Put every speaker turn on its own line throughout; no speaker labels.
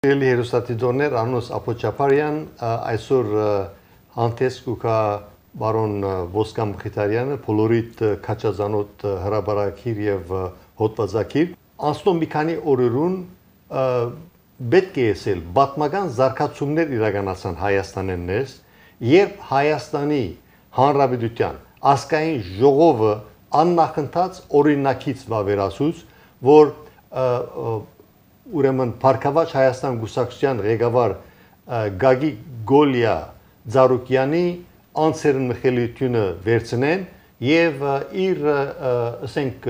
Eli հերոստատիդորներ Անոս Ապոչապարյան, այսօր հանդես կուկա բարոն Ոսկամ Խիթարյանը, բոլորիդ քաչազանոտ հրաբարակիր եւ հոդվածակիր, անցնում մի քանի օրերուն պետք է եսել պատմական զարգացումներ իրականացան Հայաստանեն ներս, երբ Հայաստանի Հանրապետության ազգային ժողովը աննախընթաց օրինակից վավերացուց, որ ուրեմն Փարքավաճ Հայաստան Գուսակցության ղեկավար Գագիկ Գոլիա Ձարուկյանի անձերն մխելիությունը վերցնեն եւ իր ասենք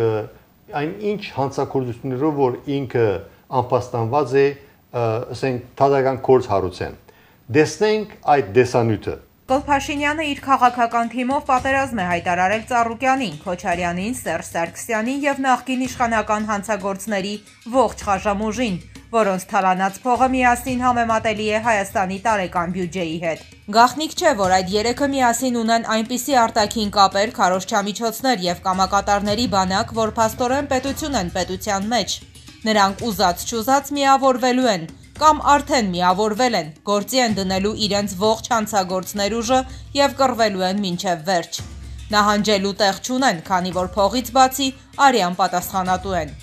այն ինչ հանցագործություններով որ ինքը անպաստանված է ասենք թադական կորց հարուցեն դեսնենք այդ դեսանյութը
Նիկոլ Փաշինյանը իր քաղաքական թիմով պատերազմ է հայտարարել Ծառուկյանին, Քոչարյանին, Սերժ Սարգսյանին եւ նախկին իշխանական հանցագործների ողջ խաժամուժին, որոնց թալանած փողը միասին համեմատելի է Հայաստանի տարեկան բյուջեի հետ։ Գաղտնիք չէ, որ այդ երեքը միասին ունեն այնպիսի արտաքին կապեր, քարոզչամիջոցներ եւ կամակատարների բանակ, որ փաստորեն պետություն են պետության մեջ։ Նրանք ուզած-չուզած միավորվելու են կամ արդեն միավորվել են, գործի են դնելու իրենց ողջ հանցագործներ ուժը եւ կռվելու են մինչեւ վերջ։ Նահանջելու տեղ չունեն, քանի որ փողից բացի արյան պատասխանատու են։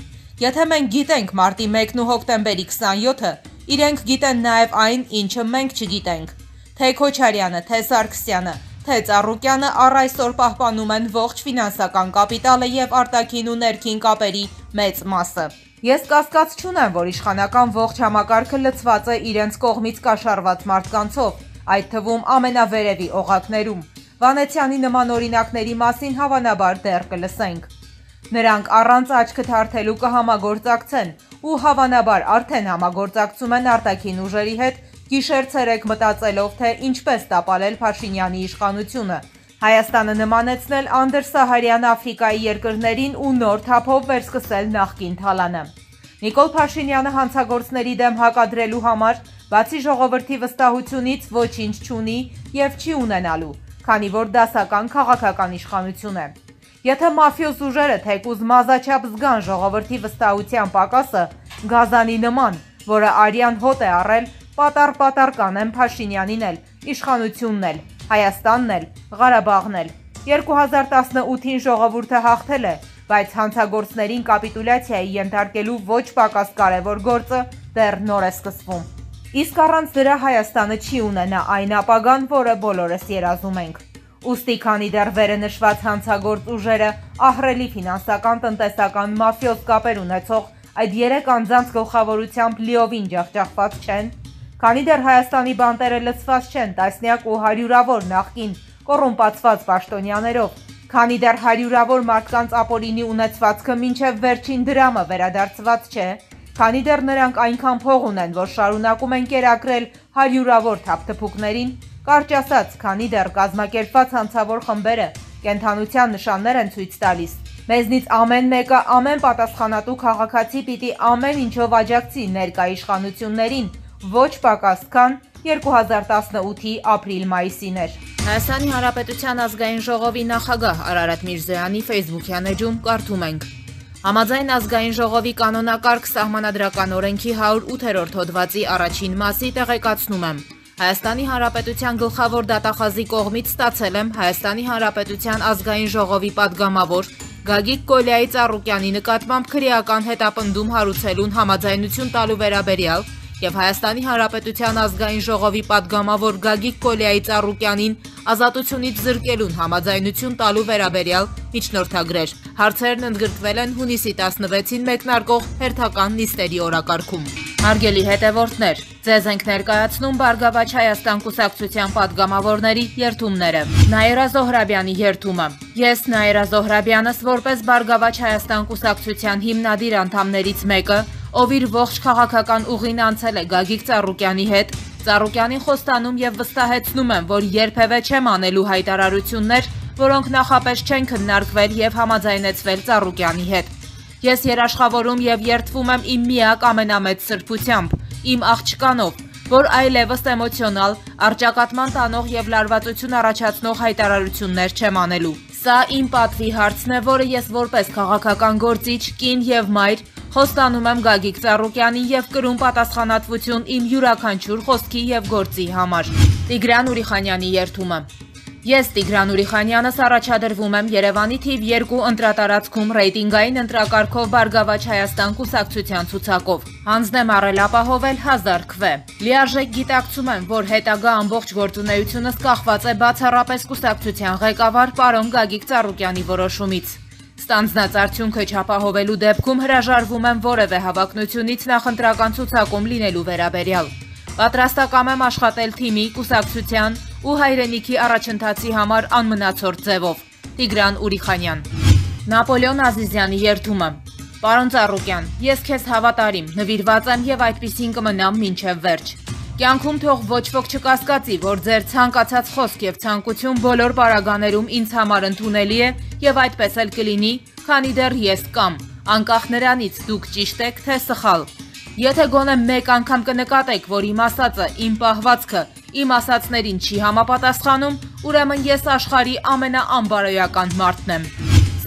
Եթե մենք գիտենք մարտի 1-ն ու հոկտեմբերի 27-ը, իրենք գիտեն նաեւ այն, ինչը մենք չգիտենք։ Թե Քոչարյանը, թե Սարգսյանը, թե Ծառուկյանը առ այսօր պահպանում են ողջ ֆինանսական կապիտալը եւ արտաքին ու ներքին կապերի մեծ մասը։ Ես կասկած չունեմ, որ իշխանական ողջ համակարգը լցված է իրենց կողմից կաշառված մարդկանցով, այդ թվում ամենավերևի օղակներում։ Վանեցյանի նման օրինակների մասին հավանաբար դեռ կլսենք։ Նրանք առանց աչքը թարթելու կհամագործակցեն ու հավանաբար արդեն համագործակցում են արտաքին ուժերի հետ, գիշեր-ցերեկ մտածելով, թե ինչպես տապալել Փաշինյանի իշխանությունը, Հայաստանը նմանեցնել անդրսահարյան Աֆրիկայի երկրներին ու նոր թափով վերսկսել նախկին թալանը։ Նիկոլ Փաշինյանը հանցագործների դեմ հակադրելու համար, բացի ժողովրդի վստահությունից ոչինչ չունի եւ չի ունենալու, քանի որ դասական քաղաքական իշխանություն է։ Եթե մաֆիոզ ուժերը թեկուզ մազաչափ զգան ժողովրդի վստահության պակասը, գազանի նման, որը արյան հոտ է առել, պատառ կանեն Փաշինյանին էլ, իշխանությունն էլ, Հայաստանն էլ, Ղարաբաղն էլ։ 2018-ին ժողովուրդը հաղթել է, բայց հանցագործներին կապիտուլյացիայի ենթարկելու ոչ պակաս կարևոր գործը դեռ նոր է սկսվում։ Իսկ առանց դրա Հայաստանը չի ունենա այն ապագան, որը բոլորս երազում ենք։ Ուստի քանի դեռ վերը նշված հանցագործ ուժերը ահռելի ֆինանսական, տնտեսական, մաֆիոզ կապեր ունեցող այդ 3 անձանց գլխավորությամբ լիովին ջախջախված չեն, քանի դեռ Հայաստանի բանտերը լցված չեն տասնյակ ու հարյուրավոր նախկին կոռումպացված պաշտոնյաներով, քանի դեռ հարյուրավոր մարդկանց ապօրինի ունեցվածքը մինչև վերջին դրամը վերադարձված չէ, քանի դեռ նրանք այնքան փող ունեն, որ շարունակում են կերակրել հարյուրավոր թափթփուկներին, կարճ ասած, քանի դեռ կազմակերպված հանցավոր խմբերը կենթանության նշաններ են ցույց տալիս։ Մեզնից ամեն մեկը ամեն պատասխանատու քաղաքացի պիտի ամեն ինչով աջակցի ներկա իշխանություններին, ոչ պակաս քան 2018-ի ապրիլ-մայիսին էր։ Հայաստանի Հանրապետության ազգային ժողովի նախագահ Արարատ Միրզոյանի Facebook-յան էջում կարդում ենք. Համաձայն ազգային ժողովի կանոնակարգ սահմանադրական օրենքի 108-րդ հոդվածի առաջին մասի տեղեկացնում եմ. Հայաստանի Հանրապետության գլխավոր դատախազի կողմից ստացել եմ Հայաստանի Հանրապետության ազգային ժողովի падգամավոր Գագիկ Գոլիայի Ծառուկյանի նկատմամբ քրեական հետապնդում հարուցելուն համաձայնություն տալու վերաբերյալ եւ Հայաստանի Հանրապետության ազգային ժողովի падգամավոր Գագիկ Գոլիայի Ծառուկյանին ազատությունից զրկելուն համաձայնություն տալու վերաբերյալ միջնորդագրեր։ Հարցերն ընդգրկվել են հունիսի 16-ին մեկնարկող հերթական նիստերի օրակարգում։ Հարգելի հետևորդներ, ձեզ ենք ներկայացնում Բարգավաճ Հայաստան կուսակցության падգամավորների երթումները։ Նաիրա Զոհրաբյանի երթումը։ Ես Նաիրա Զոհրաբյանս որպես Բարգավաճ Հայաստան կուսակցության հիմնադիր անդամներից մեկը, ով իր ողջ քաղաքական ուղին անցել է Գագիկ Ծառուկյանի հետ, Ծառուկյանին խոստանում եւ վստահեցնում եմ, որ երբևէ չեմ անելու հայտարարություններ, որոնք նախապես չեն քննարկվել եւ համաձայնեցվել Ծառուկյանի հետ։ Ես երաշխավորում եւ երդվում եմ իմ միակ ամենամեծ սրբությամբ, իմ աղջկանով, որ այլևս էմոցիոնալ, առճակատման տանող եւ լարվածություն առաջացնող հայտարարություններ չեմ անելու։ Սա իմ պատվի հարցն է, որը ես որպես քաղաքական գործիչ, կին եւ մայր Խոստանում եմ Գագիկ Ծառուկյանին եւ կրում պատասխանատվություն իմ յուրաքանչյուր խոսքի եւ գործի համար։ Տիգրան Ուրիխանյանի երդումը։ Ես Տիգրան Ուրիխանյանս առաջադրվում եմ Երևանի թիվ 2 ընտրատարածքում ռեյտինգային ընտրակարգով Բարգավաճ Հայաստան կուսակցության ցուցակով։ Հանձնեմ առել ապահովել 1000 քվե։ Լիարժեք գիտակցում եմ, որ հետագա ամբողջ գործունեությունս կախված է բացառապես կուսակցության ղեկավար պարոն Գագիկ Ծառուկյանի որոշումից։ Ստանձնած արդյունքը չապահովելու դեպքում հրաժարվում եմ որևէ հավակնությունից նախընտրական ցուցակում լինելու վերաբերյալ։ Պատրաստակամ եմ աշխատել թիմի, կուսակցության ու հայրենիքի առաջընթացի համար անմնացորդ ձևով։ Տիգրան Ուրիխանյան։ Նապոլեոն Ազիզյանի երդումը։ Պարոն Ծառուկյան, ես քեզ հավատարիմ, նվիրված եմ եւ այդպիսին կմնամ մինչեւ վերջ։ Կյանքում թող ոչ ոք չկասկածի, որ ձեր ցանկացած խոսք եւ ցանկություն բոլոր պարագաներում ինձ համար ընդունելի է եւ այդպես էլ կլինի, քանի դեռ ես կամ, անկախ նրանից դուք ճիշտ եք թե սխալ։ Եթե գոնե մեկ անգամ կնկատեք, որ իմ ասածը, իմ պահվածքը, իմ ասածներին չի համապատասխանում, ուրեմն ես աշխարհի ամենաանբարոյական մարդն եմ։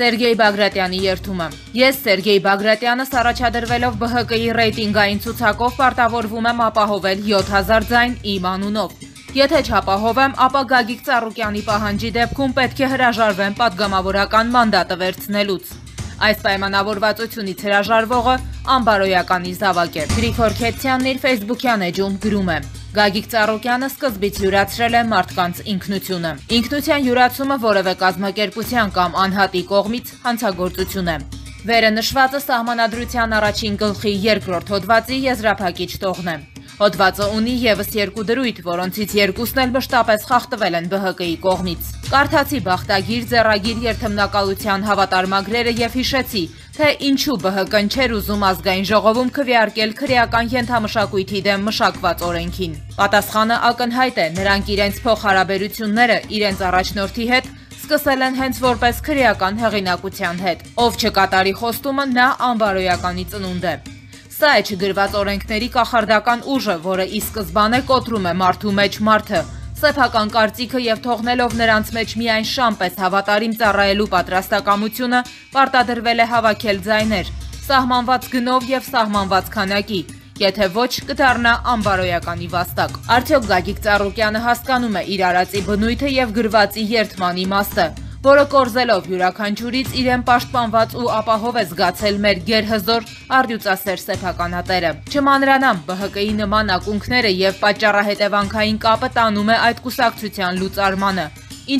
Սերգեյ Բագրատյանի երդումը։ Ես Սերգեյ Բագրատյանս առաջադրվելով ԲՀԿ-ի ռեյտինգային ցուցակով պարտավորվում եմ ապահովել 7000 ձայն իմ անունով։ Եթե չապահովեմ, ապա Գագիկ Ծառուկյանի պահանջի դեպքում պետք է հրաժարվեմ պատգամավորական մանդատը վերցնելուց։ Այս պայմանավորվածությունից հրաժարվողը անբարոյականի զավակ է։ Գրիգոր Քեթյանն իր ֆեյսբուքյան էջում գրում է. Գագիկ Ծառուկյանը սկզբից յուրացրել է մարդկանց ինքնությունը։ Ինքնության յուրացումը որևէ կազմակերպության կամ անհատի կողմից հանցագործություն է։ Վերը նշվածը սահմանադրության առաջին գլխի 2-րդ հոդվածի եզրափակիչ տողն է։ Հոդվածը ունի եւս 2 դրույթ, որոնցից 2-ն էլ մշտապես խախտվել են ԲՀԿ-ի կողմից։ Կարդացի բախտագիր, ձեռագիր երթմնակալության հավատարմագրերը եւ հիշեցի, թե ինչու ԲՀԿ-ն չէր ուզում ազգային ժողովում քվեարկել քրեական ենթամշակույթի դեմ մշակված օրենքին։ Պատասխանը ակնհայտ է, նրանք իրենց փոխհարաբերությունները իրենց առաջնորդի հետ սկսել են հենց որպես քրեական հեղինակության հետ։ Ով չկատարի խոստումը, նա անբարոյականի ծնունդ է։ Սա է չգրված օրենքների կախարդական ուժը, որը ի սկզբանե կոտրում է մարդու մեջ մարդը, սեփական կարծիքը եւ թողնելով նրանց մեջ միայն շամ պես հավատարիմ ծառայելու պատրաստակամությունը, պարտադրվել է հավաքել ձայներ, սահմանված գնով եւ սահմանված քանակի, եթե ոչ կդառնա անբարոյականի վաստակ։ Արդյոք Գագիկ Ծառուկյանը հասկանում է իր արածի բնույթը եւ գրվածի երդման իմաստը, որը կորզելով յուրաքանչյուրից իրեն պաշտպանված ու ապահով է զգացել մեր գերհզոր արդյունասեր սեփականատերը։ Չմանրանամ, ԲՀԿ-ի նման ակունքները եւ պատճառահետևանքային կապը տանում է այդ կուսակցության լուծարմանը,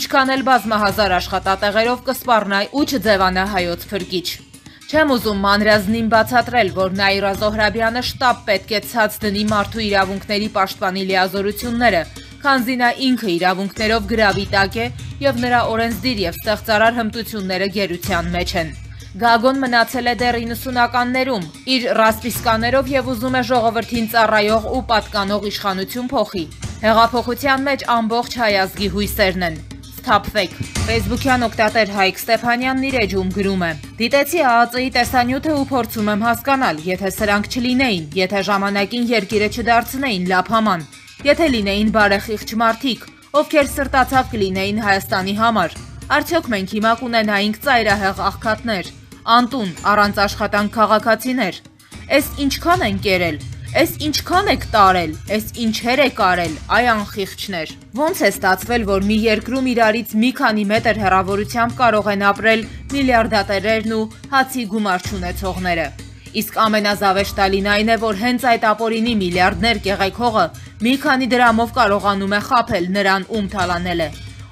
ինչքան էլ բազմահազար աշխատատեղերով կսպառնա ու չձևանա հայոց փրկիչ։ Չեմ ուզում մանրազնին բացատրել, որ Նաիրա Զոհրաբյանը շտապ պետք է ցած դնի մարդու իրավունքների պաշտպանի լիազորությունները, քանզի նա ինքը իրավունքներով գրավի տակ է եւ նրա օրենսդիր եւ ստեղծարար հմտությունները գերության մեջ են։ Գագոն մնացել է դեռ 90-ականներում, իր ռասպիսկաներով եւ ուզում է ժողովրդին ծառայող ու պատկանող իշխանություն փոխի։ Հեղափոխության մեջ ամբողջ հայ ազգի հույսերն են։ Սթափվեք։ Ֆեյսբուքյան օգտատեր Հայկ Ստեփանյանն իր էջում գրում է. Դիտեցի ԱԱԾ-ի տեսանյութը ու փորձում եմ հասկանալ, եթե սրանք չլինեին, եթե ժամանակին երկիրը չդարձնեին լափաման, եթե լինեին բարեխիղճ մարդիկ, ովքեր սրտացավ կլինեին Հայաստանի համար, արդյոք մենք հիմա կունենայինք ծայրահեղ աղքատներ, անտուն, առանց աշխատանք քաղաքացիներ։ Էս ինչքան են կերել, էս ինչքան եք տարել, էս ինչեր եք արել, այ անխիղճներ։ Ոնց է ստացվել, որ մի երկրում իրարից մի քանի մետր հեռավորությամբ կարող են ապրել միլիարդատերերն ու հացի գումար չունեցողները։ Իսկ ամենազավեշտալին այն է, որ հենց այդ ապօրինի միլիարդներ կեղեքողը մի քանի դրամով կարողանում է խաբել նրան, ում թալանել է։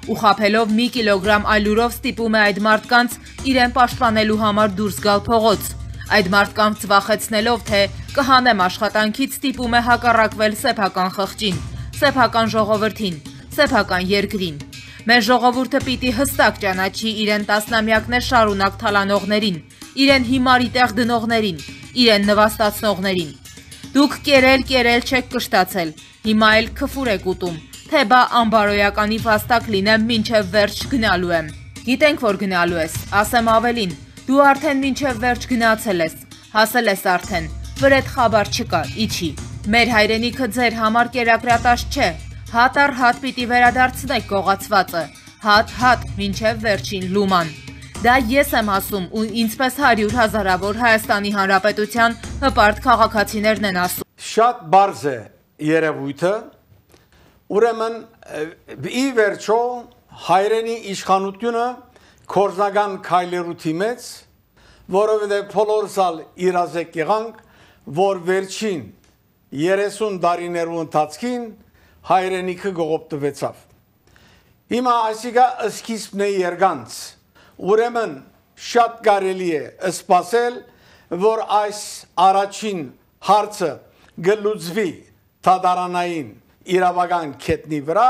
Ու խաբելով մի կիլոգրամ այլուրով ստիպում է այդ մարդկանց իրեն պաշտպանելու համար դուրս գալ փողոց։ Այդ մարդկանց վախեցնելով, թե կհանեմ աշխատանքից, ստիպում է հակառակվել սեփական խղճին, սեփական ժողովրդին, սեփական երկրին։ Մեր ժողովուրդը պիտի հստակ ճանաչի իրեն տասնամյակներ շարունակ թալանողներին, իրեն հիմարի տեղ դնողներին, իրեն նվաստացնողներին։ Դուք կերել չեք կշտացել, հիմա էլ քֆուր եք ուտում, թե բա անբարոյականի վաստակ լինեմ մինչև վերջ գնալու եմ։ Գիտենք, որ գնալու ես, ասեմ ավելին, դու արդեն մինչև վերջ գնացել ես, հասել ես արդեն, վրեդ խաբար չկա, իջի։ Մեր հայրենիքը ձեր համար կերակրատաշ չէ, հատ առ հատ պիտի վերադարձնեք գողացվածը, հատ մինչև վերջին լուման։ Դա ես եմ ասում ու ինձպես 100 հազարավոր Հայաստանի Հանրապետության հպարտ քաղաքացիներն են ասում։
Շատ բարձ է երևույթը, ուրեմն ի վերջո հայրենի իշխանությունը կորզնական քայլերութի մեծ, որովհետև փոլորսալ իրազեկ եղանք, որ վերջին 30 տարիներու ընթացքին հայրենիքը գողոպտվեցավ։ Հիմա այսիկա սկիզբն է երգանց, ուրեմն շատ կարելի է սպասել, որ այս առաջին հարցը գլուծվի թադարանային իրավական կետնի վրա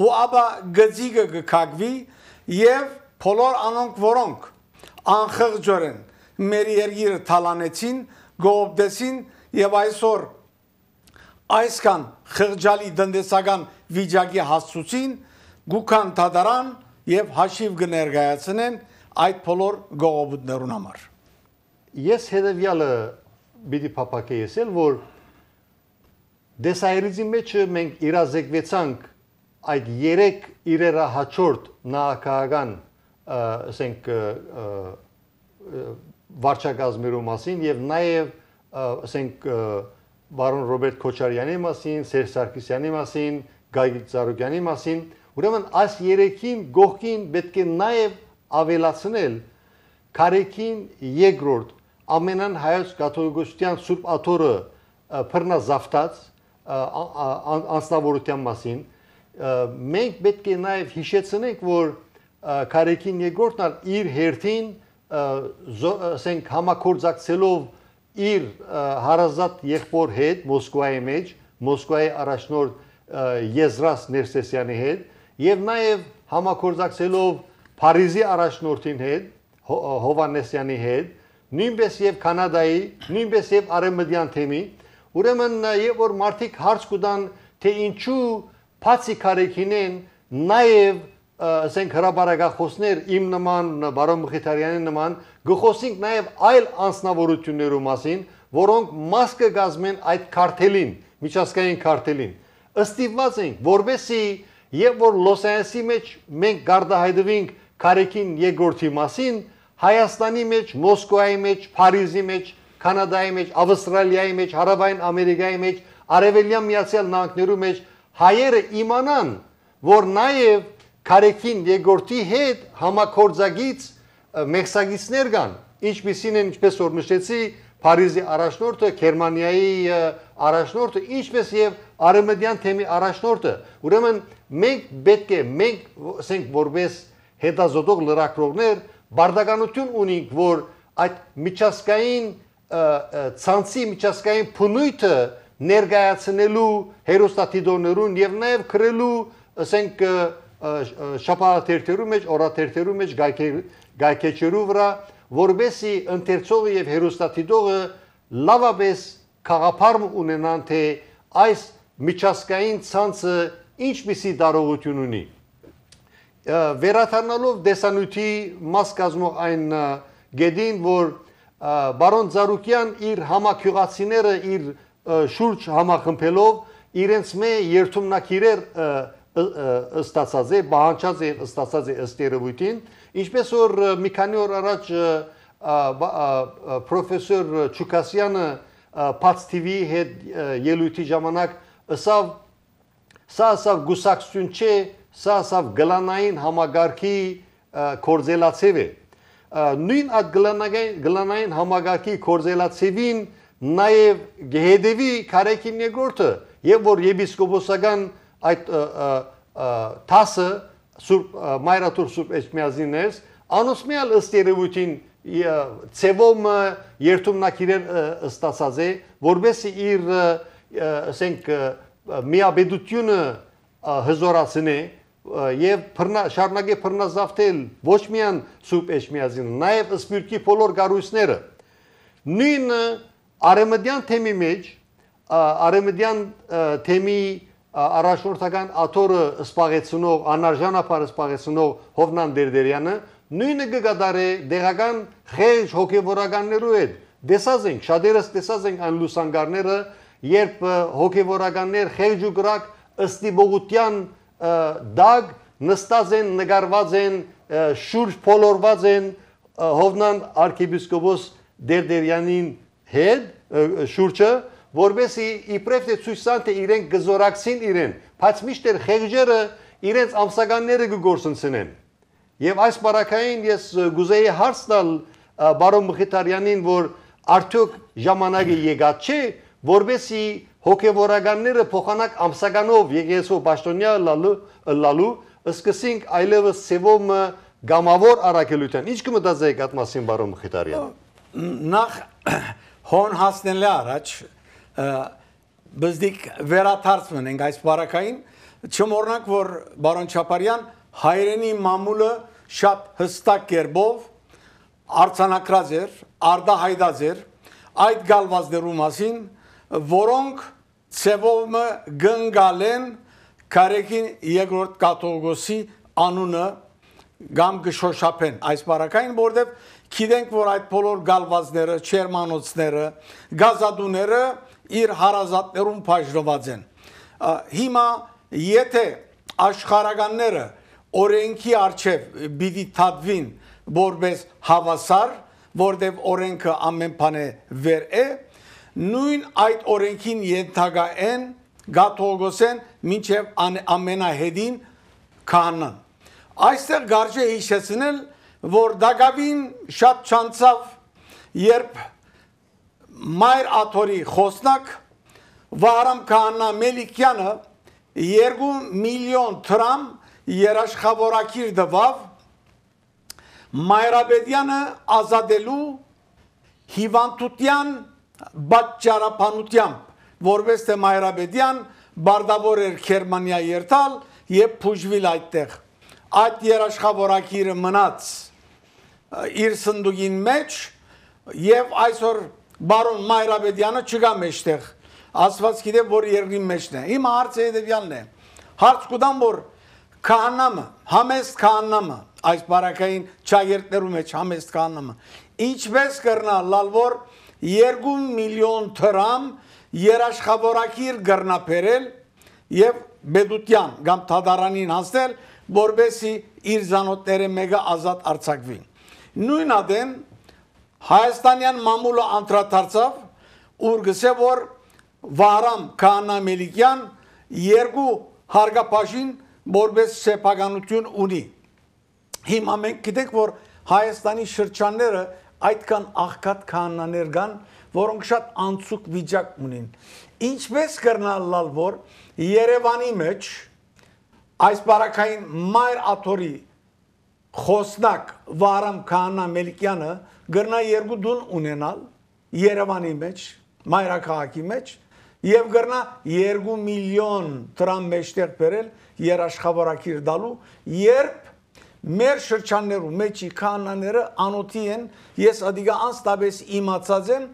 ու ապա գծիկը գքակվի և բոլոր անոնք, որոնք անխղճորեն մեր երկիրը թալանեցին, գողոպտեցին և այսօր այսքան խղճալի տնտեսական վիճակի հասցուցին, գուքան թադարան և հաշիվ կներկայացնեն այդ բոլոր գողոպուտներուն համար։
Ես հետևյալը պիտի փափակեի ասել, որ դեսայրիզի մեջ մենք իրազեկվեցանք այդ 3 իրերահաջորդ նախագահական ասենք վարչակազմերու մասին եւ նաեւ ասենք բարոն Ռոբերտ Քոչարյանի մասին, Սերժ Սարգսյանի մասին, Գագիկ Ծառուկյանի մասին, ուրեմն այս 3-ին գողքին պետք է նաեւ ավելացնել Քարեքին երկրորդ ամենան հայոց կաթողիկոսության Սուրբ Աթոռը բռնազավթած անձնավորության մասին մենք պետք է նաև հիշեցնենք, որ Քարեքին երկրորդն իր հերթին ասենք համակորձակցելով իր հարազատ եղբոր հետ Մոսկվայի մեջ, Մոսկվայի առաջնորդ Եզրաս Ներսեսյանի հետ եւ նաև համակորձակցելով Փարիզի առաջնորդին հետ, Հովանեսյանի հետ, նույնպես եւ Կանադայի, նույնպես եւ Արևմտյան թեմի, ուրեմն եւ որ մարդիկ հարց կտան, թե ինչու բացի Քարեքինեն նաեւ ասենք հրապարակախոսներ իմ նման բարոն Մխիթարյանի նման գխոսենք նաեւ այլ անձնավորություններու մասին, որոնք մաս կգազմեն այդ քարտելին, միջազգային քարտելին։ Ըստիված ենք, որովհետեւ եւ որ Լոս Անջելեսի մեջ մենք գարդահայտվենք Քարեքին երկրորդի մասին, Հայաստանի մեջ, Մոսկվայի մեջ, Փարիզի մեջ, Կանադայի մեջ, Ավստրալիայի մեջ, Հարավային Ամերիկայի մեջ, Արևելյան Միացյալ Նահանգներու մեջ հայերը իմանան, որ նաև Քարեքին երկրորդի հետ համակորձագից մեղսագիցներ կան, ինչպիսին են, ինչպես որ նշեցի, Փարիզի առաջնորդը, Գերմանիայի առաջնորդը, ինչպես եւ Արևմտյան թեմի առաջնորդը։ Ուրեմն մենք պետք է, ասենք որպես հետազոտող լրագրողներ բարդականություն ունենք, որ այդ միջազգային ցանցի միջազգային փնույթը ներկայացնելու հերոստատիդոներուն եւ նաեւ քրելու, ասենք շաբաթերթերու մեջ, օրաթերթերու մեջ գայքեչերու վրա, որովհետեւ ընթերցողը եւ հերոստատիդողը լավապես խաղապարմ ունենան, թե այս միջազգային ցանցը ինչպիսի տարողություն ունի։ Վերադառնալով դեսանյութի մաս կազմող այն գեդին, որ բարոն Ծառուկյան իր համակյուղացիները իր շուրջ համախմբելով իրենց մե երթումնակիրեր ստացած է, բանջած է ստացած է ըստ երևույթին, ինչպես որ մի քանի օր առաջ պրոֆեսոր Չուկասյանը Փաց TV-ի հետ ելույթի ժամանակ ասավ, սա ասավ գուսակցություն չէ, սա ասավ գլանային համագարքի կորձելացև է։ Նույն այդ գլանային համագարքի կորձելացևին նաև գեհեդևի Քարեքին երկրորդը, եւ որ եպիսկոպոսական այդ տասը Մայրաթուր Սուրբ Էջմիածիններս, անոսմյալ ըստ երևույթին ցևոմ երթումնակիրեր ստացած է, որովհետեւ իր ասենք միաբեդությունը հզորացնե եւ շարունակե բռնազավթել ոչ միայն Սուրբ Էջմիածինը, նաեւ Սփյուռքի բոլոր կառույցները։ Նույն Արևմտյան թեմի մեջ, Արևմտյան թեմի առաջնորդական աթոռը սպաղեցնող, անարժանապար սպաղեցնող Հովնան Դերդերյանը նույնը կգադարե դեղական խեղճ հոգևորականներու հետ։ Տեսած ենք, շատերս տեսած ենք այն լուսանգարները, երբ հոգևորականներ խեղճ ու կրակ ըստիբողության դագ նստած են, նկարված են, շուրջ փոլորված են Հովնան arczepiskopos Դերդերյանին հետ շուրջը, որովհետեւ իբրև թե ցույց տան թե իրենք գզորակցին իրեն, բայց միշտ խեղճերը իրենց ամսականները կգործընծնեն։ Եվ այս բարակային ես գուզեի հարց տալ բարոն Մխիթարյանին, որ արդյոք ժամանակը եկած չէ, որովհետեւ հոգևորականները փոխանակ ամսականով եկեղեցու պաշտոնյա լալու սկսենք այլևս ծևոմը գամավոր առաքելության։ Ինչ կմտածեիք այդ մասին բարոն Մխիթարյան։
Նախ հոն հասնելը առաջ բզդիկ վերաթարցմն ենք այս բարակային, չմոռնանք, որ բարոն Չապարյան հայրենի մամուլը շատ հստակ կերպով արձանագրած էր, արդահայտած էր այդ գալվածներու մասին, որոնք ծևոմը գնգալ են Կարեկին երկրորդ կաթողիկոսի անունը գամ կշոշափեն այս բարակային, որտեղ գիտենք, որ այդ բոլոր գալվածները, չերմանոցները, գազադուները իր հարազատներում բաժնված են։ Հիմա եթե աշխարհականները օրենքի արչև պիտի թատվին որպես հավասար, որտեղ օրենքը ամեն բանը վեր է, նույն այդ օրենքին ենթակա են գաթողիկոսեն մինչև ամենահետին քահանան։ Այստեղ կարելի է հիշեցնել, որ Դագավին շատ չանցավ, երբ Մայր Աթորի խոսնակ Վահրամ քահանա Մելիքյանը 2 միլիոն դրամ երաշխավորակիր տվավ Մայրաբեդյանը ազատելու հիվանդության պատճառաբանությամբ, որպես թե Մայրաբեդյան բարդավոր էր Գերմանիա երթալ եւ փուժվել այդտեղ։ Այդ երաշխավորակիրը մնաց իր սնդուկին մեջ եւ այսօր բարոն Մայրաբեդյանը չկա մեջտեղ։ Աստված գիտե որ երկրի մեջն է։ Հիմա հարցը հետեւյալն է։ Հարց կուտամ որ քահանամը, համեստ քահանամը, այս բարակային ճագերտներու մեջ համեստ քահանամը, ինչպես կրնա լալվոր 2 միլիոն դրամ երաշխավորակիր գրնապերել եւ Բեդուտյան կամ Թադարանին հասնել, որբեսի իր զանոթները մեկը ազատ արձակվի։ Նույն ադեն Հայաստանյան մամուլը անդրադարձավ, ուր գսե որ Վահրամ քահանա Մելիքյան 2 հարգապաշին որպես սեփականություն ունի։ Հիմա մենք գիտենք, որ Հայաստանի շրջանները այդքան աղքատ քահանաներ կան, որոնք շատ անցուկ վիճակ ունին։ Ինչպես կրնալ որ Երևանի մեջ այս բարակային Մայր Աթորի խոսնակ Վահրամ քահանա Մելիքյանը գրնա 2 դուն ունենալ Երևանի մեջ, մայրաքաղաքի մեջ եւ գրնա 2 միլիոն դրամ մեջտեղ բերել երաշխավորակիր դալու, երբ մեր շրջաններում մեջի քահանաները անոթի են, ես ադիգա անստաբես իմացած եմ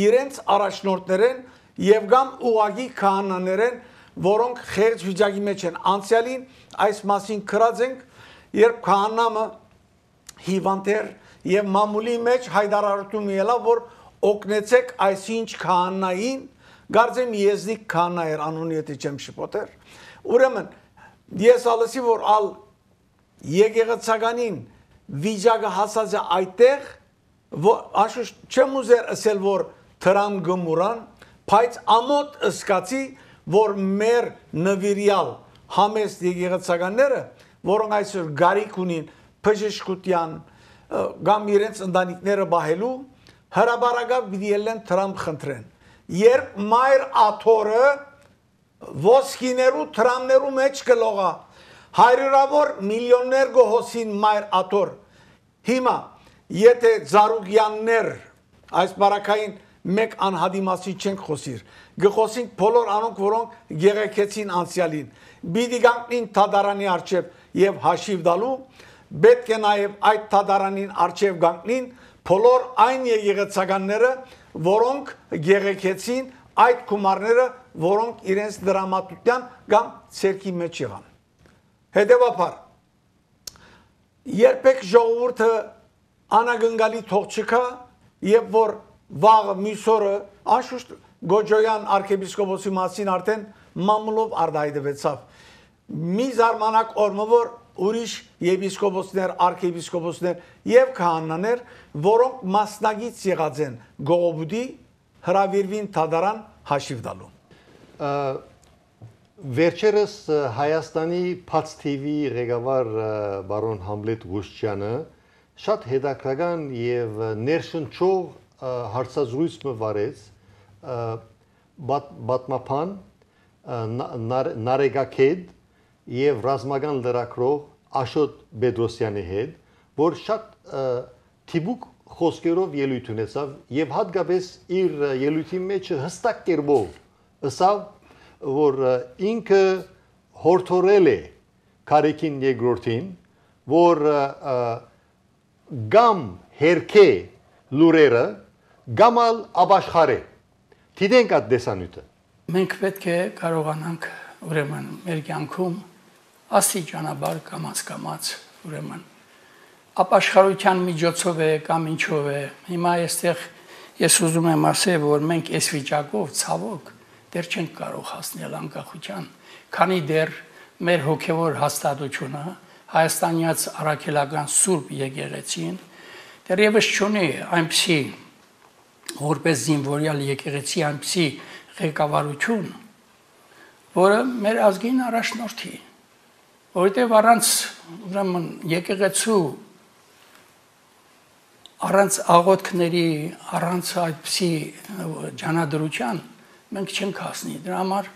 իրենց առաջնորդներեն եւ գամ ուղագի քահանաներեն, որոնք խեղճ վիճակի մեջ են։ Անցյալին այս մասին քրած ենք, երբ քահանամը հիվանդեր եւ մամուլի մեջ հայտարարություն ելավ, որ օգնեցեք այսինչ քահանային, գարձեմ եզնիկ քահանա էր անունի եթե չեմ շփոթեր։ Ուրեմն ես ալսի որ ալ եկեղեցականին վիճակը հասած է այդտեղ, անշուշտ չեմ ուզեր ասել որ թրամ գմուրան, բայց ամոթ ըսկացի որ մեր նվիրյալ համեստ եկեղեցականները, որոնք այսօր գարիք ունին բժշկության կամ իրենց ընտանիքները բահելու, հրաբարակավ պիտի ելեն թրամ խնդրեն։ Երբ Մայր Աթորը ոսկիներու թրամներու մեջ կլողա, հարյուրավոր միլիոններ գոհոսին Մայր Աթոր։ Հիմա եթե Զարուգյաններ այս բարակային մեկ անհադի մասի չենք խոսիր, գխոսենք բոլոր անոնք, որոնք գեղեցին անցյալին, պիտի գանքնին Թադարանի արչև եւ հաշիվ դալու, պետք է նաեւ այդ Թադարանին արչև գանքնին բոլոր այն եկեղեցականները, որոնք գեղեցին այդ գումարները, որոնք իրենց դրամատության կամ ցերկի մեջ եղան։ Հետևաբար երբեք ժողովուրդը անագնգալի թող չկա, եւ որ վաղը միսորը անշուշտ Գոջոյան arczepiskopos-ի մասին արդեն մամուլով արդայդվեցավ։ Մի զարմանակ օրը որ ուրիշ եպիսկոպոսներ, արքեպիսկոպոսներ եւ քահանաներ, որոնք մասնագից եղած են գողոբուդի հրավիրվին թադարան հաշիվ տալու։
Վերջերս Հայաստանի Փաց TV ղեկավար բարոն Համլետ Ղուշչյանը շատ հետաքրքրական եւ ներշնչող հարցազրույց մվարեց բատմապան Նարեգակեդ եւ ռազմական լրագրող Աշոտ Բեդրոսյանի հետ, որ շատ թիբուկ խոսքերով ելույթ ունեցավ եւ հատկապես իր ելույթի մեջ հստակ կերպով ասավ, որ ինքը հորդորել է Կարեկին երկրորդին, որ գամ հերքե լուրերը գամ ալ աբաշխարե։ Դիտենք այդ դեսանյութը։
Մենք պետք է կարողանանք ուրեմն մեր կյանքում աստիճանաբար կամաց ուրեմն ապաշխարության միջոցով է կամ ինչով է։ Հիմա այստեղ ես ուզում եմ ասել, որ մենք այս վիճակով ցավոք դեռ չենք կարող հասնել անկախության, քանի դեռ մեր հոգևոր հաստատությունը հայաստանյաց առաքելական Սուրբ եկեղեցին դեռևս չունի այնպիսի որպես զինվորյալ եկեղեցի այնպիսի ղեկավարություն, որը մեր ազգին առաջնորդի, որովհետև առանց ուրեմն եկեղեցու առանց աղոթքների, առանց այդպիսի ջանադրության մենք չենք հասնի։ Դրա համար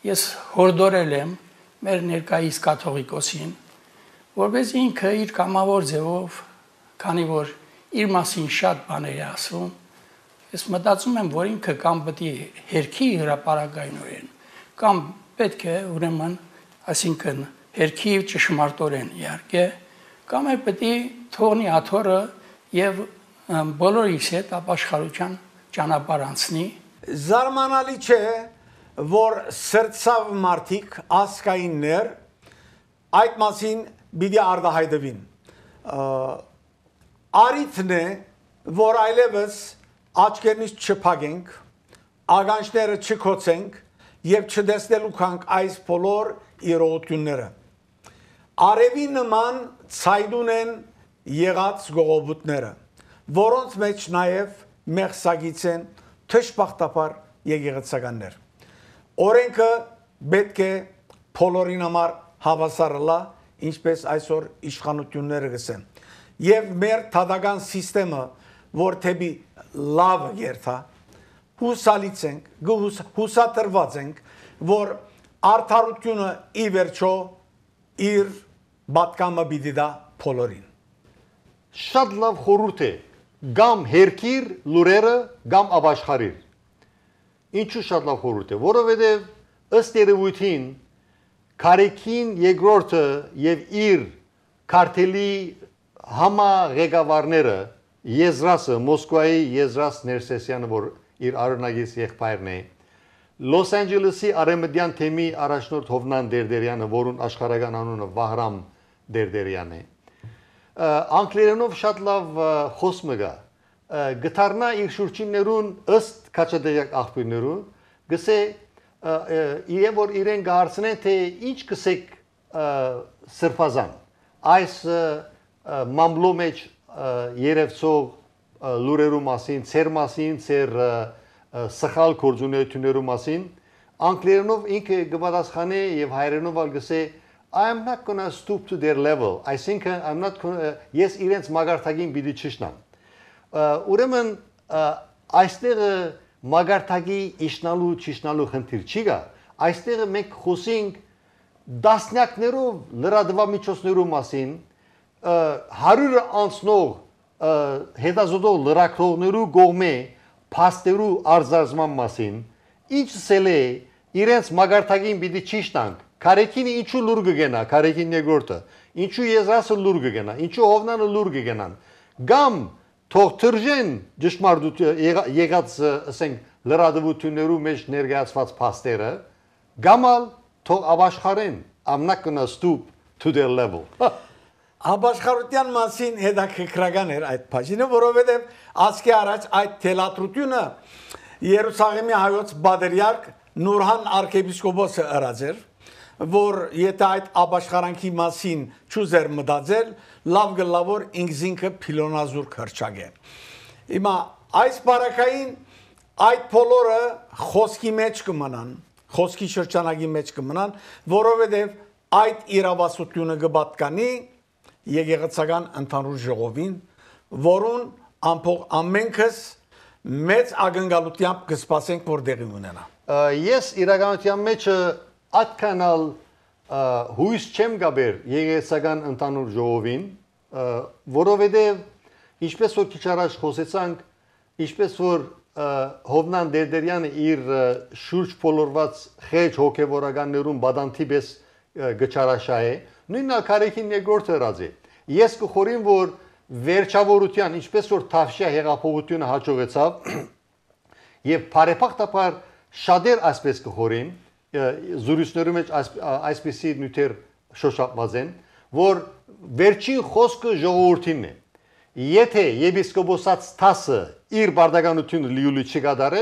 ես հորդորել եմ մեր ներկայիս կաթողիկոսին, որպես ինքը իր կամավոր ձևով, քանի որ իր մասին շատ բաներ է ասում, ես մտածում եմ, որ ինքը կամ պետք է հերքի հրապարակայնորեն, կամ պետք է ուրեմն, այսինքն հերքի ճշմարտորեն իհարկե, կամ էլ պետք է թողնի աթոռը եւ բոլորիս հետ ապաշխարության ճանապարհ անցնի։
Զարմանալի չէ, որ սրտացավ մարդիկ ասկայիններ այդ մասին պիտի արտահայտվին։ Արիթն է, որ այլևս աչքերնից չփակենք, ագանչները չքոցենք եւ չտեսնելու կանք այս բոլոր իրողությունները։ Արևի նման ցայդուն են եղած գողոբուտները, որոնց մեջ նաեւ մեղսագից են թշպախտապար եկեղեցականներ։ Օրենքը պետք է բոլորին համար հավասար լա, ինչպես այսօր իշխանությունները գսեն։ Եվ մեր թադական սիստեմը, որ թեպի լավ երթա, հուսալից ենք, հուսատրված ենք, որ արդարությունը ի վերջո իր պատկամը պիտի տա բոլորին։
Շատ լավ խորհուրդ է, գամ հերքիր լուրերը, գամ ապաշխարիր։ Ինչու շատ լավ խորհուրդ է, որովհետև ըստ երևույթին Կարեկին երկրորդը եւ իր քարտելի համաղեկավարները Եզրասը, Մոսկվայի Եզրաս Ներսեսյանը, որ իր արոնագից եղբայրն է, Լոս Անջելեսի արևմտյան թեմի առաջնորդ Հովնան Դերդերյանը, որուն աշխարհական անունը Վահրամ Դերդերյան է, անգլերենով շատ լավ խոսքը գա, գտարնա իր շուրջիններուն ըստ քաչադեյակ աղբյուրներու, գսե եւ որ իրեն գարցնեն թե ինչ կսեք սրբազան այս մամլո մեջ երևցող լուրերու մասին, ծեր մասին, ծեր սխալ գործունեություններու մասին, անգլերենով ինքը գպատասխանե եւ հայերենով ալ գսե I am not going to stoop to their level. Այսինքն I'm not ես իրենց մագարտագին պիտի չշնամ։ Ուրեմն այստեղ մագարտագի իշնալու չիշնալու խնդիր չի գա։ Այստեղ մենք խոսենք դասնյակներով լրատվամիջոցներու մասին, 100 անցնող հետազոտող լրագրողներու կողմէ փաստերու արձարծման մասին, ինչ սել է իրենց մագարտագին պիտի չիշնանք։ Կարեկինը ինչու լուր կգենա, Կարեկին երկրորդը, ինչու Եզրասը լուր կգենա, ինչու Հովնանը լուր կգենան։ Կամ թող թրջեն ճշմարտություն եղած ասենք լրատվություններու մեջ ներկայացված փաստերը, գամալ թող ապաշխարեն, I'm not gonna stoop to their level։
Ապաշխարության մասին հետաքրքրական էր այդ բաժինը, որովհետև ասկի առաջ այդ թելատրությունը Երուսաղեմի հայոց բادرյարք Նուրհան arczepiskopos ըրած էր, որ եթե այդ ապաշխարանքի մասին չուզեր մտածել, լավ գլավոր ինքզինքը փիլոնազուր քրճագե։ Հիմա այս բարակային այդ բոլորը խոսքի մեջ կմնան, խոսքի շրջանագի մեջ կմնան, որովհետև այդ իրավասությունը կպատկանի եկեղեցական ընդհանուր ժողովին, որուն ամենքս մեծ ակնկալությամբ կսպասենք, որ տեղի ունենա։
Ես իրականության մեջ այդքանալ հույս չեմ գաբեր եկեղեցական ընդհանուր ժողովին, որովհետև ինչպես որ քիչ առաջ խոսեցանք, ինչպես որ Հովնան Դերդերյանը իր շուրջ փոլորված խեջ հոգևորականներուն բադանթի պես գճարաշահ է, նույնն Քարեքին երկրորդը ռազի։ Ես կխորին, որ վերջավորության, ինչպես որ Թավշյա հեղափոխությունը հաջողեցավ, եւ բարեփոխտապար շատեր այսպես կխորին, զուրույցներու մեջ այսպեսի նյութեր շոշափված են, որ վերջին խոսքը ժողովրդին է։ Եթե եպիսկոպոսած տասը իր բարդականությունը լիուլի չկատարե,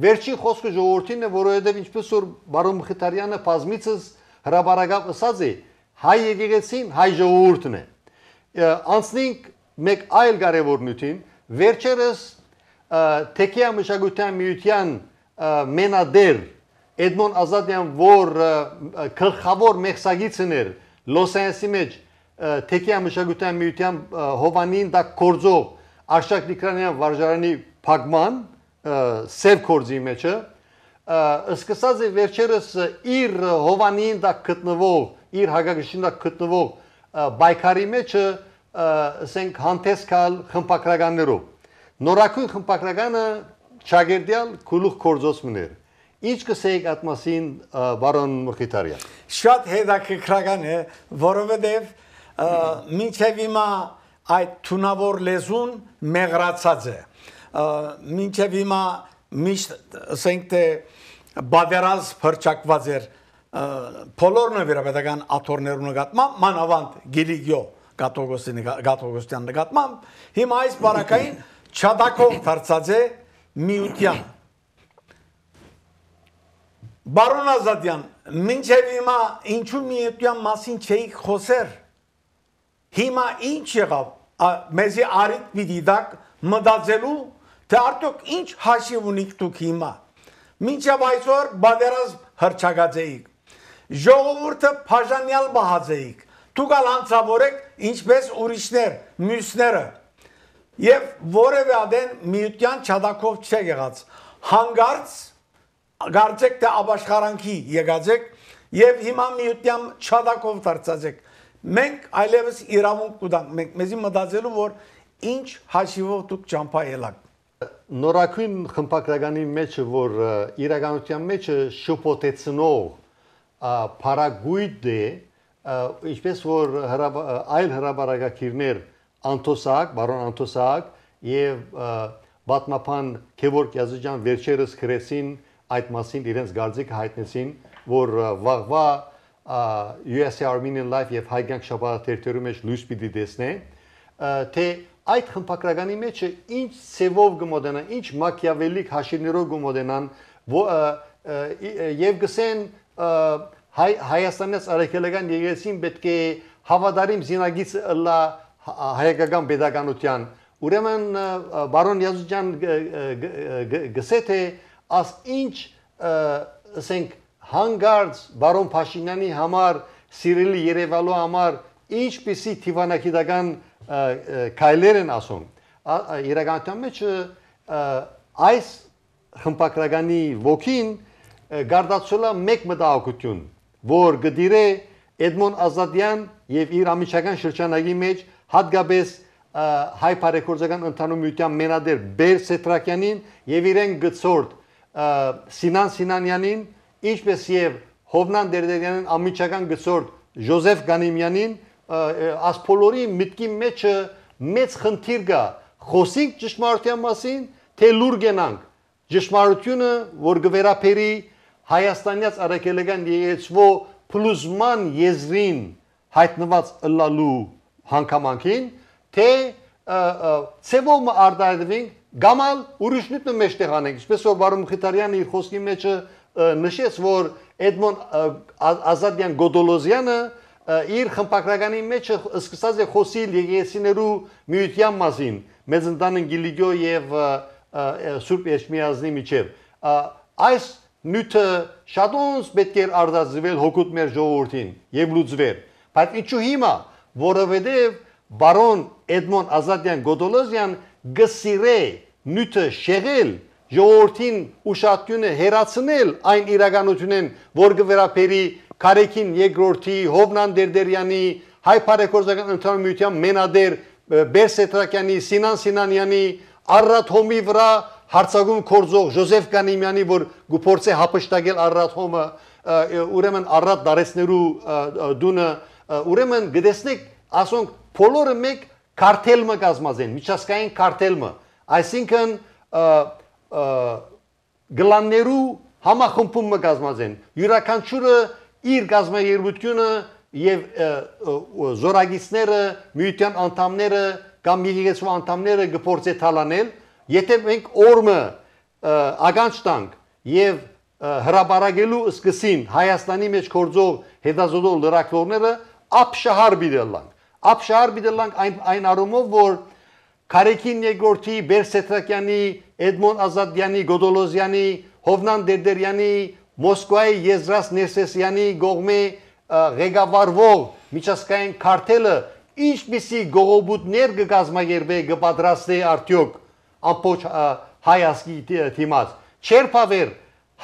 վերջին խոսքը ժողովրդին է, որովհետև ինչպես որ բարոն Մխիթարյանը բազմիցս հրաբարակավ ասած է, հայ եկեղեցին հայ ժողովուրդն է։ Անցնենք մեկ այլ կարևոր նյութին, վերջերս Թեքիա մշակութային միության մենադեր Էդմոն Ազատյան, որ գլխավոր մեղսագիծն էր Լոս Անջելեսի մեջ Թեքիա մշակութային միության Հովանին դա կորձով Արշակ Նիկրանյան վարժարանի փակման սև կորձի մեջը սկսած է վերջերս իր Հովանին դա գտնվող իր հագագշին դա գտնվող բայկարի մեջը ասենք հանդեսքալ խմբակրականներով նորակույն խմբակրականը Չագերդյալ քուլուխ կորձոց մներ Ինչ կսեիք այդ մասին բարոն Մխիթարյան
Շատ հետաքրքրական է որովհետև մինչև հիմա այդ թունավոր լեզուն մեղրացած է մինչև հիմա միշտ ասենք թե բادرազ փրճակված էր բոլոր նվիրապետական աթոռներու նկատմամբ մանավանդ Գիլիգիո Գաթողոսյան նկատմամբ հիմա այս բարակային չադակով դարձած է միության Բարոն Ազատյան մինչև հիմա ինչու միության մասին չէի խոսեր Հիմա ինչ եղավ մեզի արիտ պիտի դակ մտածելու թե արդյոք ինչ հաշիվ ունիք դուք հիմա մինչև այսօր բادرազ հրճակած էիք ժողովուրդը բաժանյալ բահած էիք դուք ալ անցավորեք ինչպես ուրիշներ մյուսները եւ որևէ ադեն միության չադակով չեղած հանգարց գարցեք թե ապաշխարանքի եկածեք եւ հիմա միության չադակով դարձած եք Մենք այլևս իրավունք կուտանք, մենք մեզի մտածելու, որ ինչ հաշիվով դուք ճամփա ելաք։
Նորակույն խմբակրականի մեջը, որ իրականության մեջը շփոթեցնող փարագույտ է, ինչպես որ այլ հրաբարակագիրներ Անտոսակ, բարոն Անտոսակ եւ պատմապան Գևորգ Յազıcan վերջերս գրեցին այդ մասին իրենց գարձիկը հայտնեցին, որ վաղվա USA Armenian Life եւ հայկյանք շաբաթերթերու մեջ լույս պիտի տեսնեն թե այդ խմբակրականի մեջը ինչ ծևով գմոդենա ինչ մակիավելիկ հաշիվներով գմոդենան եւ գսեն Հայաստանից արեքելական եկեղեցին պետք է հավատարիմ զինագիծ լա հայկական pedagogian ուրեմն բարոն Յազıcan գսե թե as ինչ ասենք հանգարց բարոն Փաշինյանի համար սիրելի Երևանու համար ինչպիսի թիվանակիտական քայլեր են ասում իրականության մեջ այս խմբակրականի ոգին գարդացոլա մեկ մտահոգություն որ գդիրե Էդմոն Ազատյան եւ իր ամիջական շրջանագի մեջ հատկապես հայ բարեգործական ընդհանուր միության մենադեր Բեր Սետրակյանին եւ իրեն գծորդ Սինան Սինանյանին ինչպես եւ Հովնան Դերդերյանին ամիջական գծորդ Ժոզեֆ Գանիմյանին ասփոլորի միտքի մեջը մեծ խնդիր կա խոսենք ճշմարտության մասին թե լուր գնանք ճշմարտությունը որ գվերապերի Հայաստանյաց արաքելական եկեղեցու փլուզման եզրին հայտնված ըլլալու հանգամանքին թե ծևոմ արդարդվին գամալ ուրիշնիտնը մեջտեղ անենք ինչպես որ բարոն Մխիթարյանը իր խոսքի մեջ նշեց որ Էդմոն Ազատյան Գոդոլոզյանը իր խմբակրականի մեջ սկսած է խոսիլ եկեղեցիներու միության մասին, Մեծընտանին Գիլիգյո եւ Սուրբ Էջմիածնի միջև։ Այս նյութը շատոնց պետք է արտադրվել հոգուտ մեր ժողովրդին եւ լուծվել։ Բայց ինչու հիմա, որովհետեւ բարոն Էդմոն Ազատյան Գոդոլոզյան գսիրե նյութը շեղել ժողովրդին ուշադրությունը հերացնել այն իրականությունն, որ գվերապերի Կարեկին երկրորդի, Հովնան Դերդերյանի, հայ բարեգործական ընդհանուր միության մենադեր Բերսետրակյանի, Սինան Սինանյանի, Արարատ հոմի վրա հարցակում կորձող Ժոզեֆ Կանիմյանի, որ գուփորձե հապշտակել Արարատ հոմը, ուրեմն Արարատ դարեցներու դունը, ուրեմն գտեսնեք, ասոնք բոլորը մեկ կարտելը կազմած են, միջազգային կարտելը, այսինքն գլաններու համախմբումը կազմած են, յուրաքանչյուրը իր գազམ་երգությունը եւ զորագիցները, միության անդամները կամ եկեղեցու անդամները գործե թալանել, եթե մենք օրը ագանջ տանք եւ հրաբարագելու սկսին Հայաստանի մեջ գործող հետազոտող լրագրողները ապշահար բիդելանք։ Ապշահար բիդելանք այն առումով, որ Կարեկին երկրորդի, Բերսետրակյանի, Էդմոն Ազատյանի, Գոդոլոզյանի, Հովնան Դերդերյանի, Մոսկվայի Եզրաս Ներսեսյանի գողմե ղեկավարվող միջազգային քարտելը ինչպիսի գողոբուտներ կգազմագերբե կպատրաստե արդյոք ամբողջ հայ ազգի դիմաց չերփավեր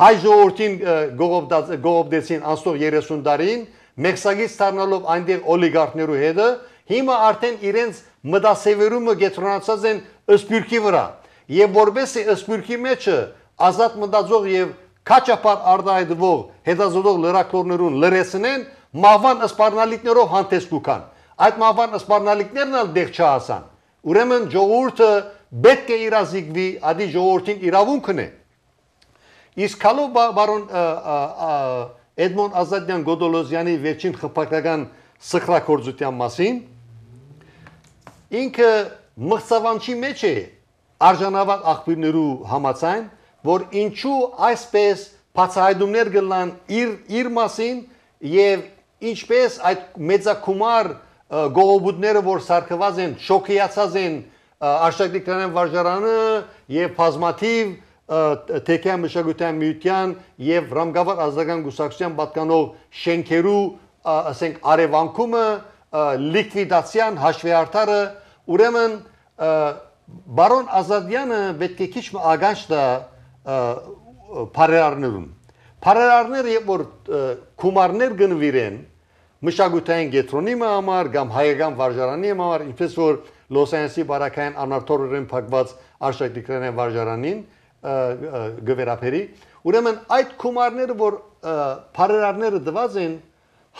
հայ ժողովրդին գողոբդեցին անցող 30 տարին մեկսագից դառնալով այնտեղ օլիգարխներու հետը հիմա արդեն իրենց մտասևերումը գետրոնացած են ըսպյուրքի վրա եւ որբեսի ըսպյուրքի մեջը ազատ մտածող եւ քաչապար արտահայտվող հետազոտող լրագրողներուն լրացնեն մահվան սպառնալիքներով հանդես կուքան այդ մահվան սպառնալիքներն էլ դեղ չհասան ուրեմն ժողովուրդը պետք է իրազեկվի ադի ժողովրդին իրավունքն է իսկ հալո բարոն Էդմոն Ազատյան Գոդոլոզյանի վերջին խփակրական սխրագործության մասին ինքը մղծավանչի մեջ է արժանավատ աղբյուրներու համաձայն որ ինչու այսպես բացահայտումներ գլան իր մասին եւ ինչպես այդ մեծակումար գողոբուտները որ սարքված են շոկիացած են Արշակրիկյան վարժարանը եւ բազմաթիվ թեքյան մշակութային միության եւ ռամգավար ազգական գուսակցության պատկանող շենքերու ասենք արևանքումը լիկվիդացիան հաշվեհարթարը ուրեմն բարոն Ազատյանը պետք է քիչ ագանջ տա բարերարներուն բարերարները երբ որ կումարներ գնվիրեն մշակութային գետրոնի համար կամ հայկական վարժարանի համար ինչպես որ Լոս Անջելեսի բարակային անարտորորեն փակված Արշակրիկյան վարժարանին գվերապերի ուրեմն այդ կումարները որ բարերարները դված են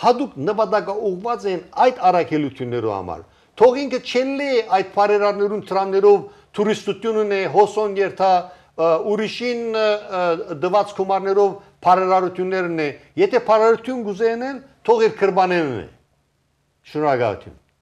հadoop նպատակը ուղղված են այդ առաքելություններու համար թող ինքը չելի այդ բարերարներուն տրամներով տուրիստությունն է հոսոն երթա ուրիշին դված կումարներով բարերարություններն է եթե բարերարություն գուզենեն թող իր կրբանենն է շնորհակալություն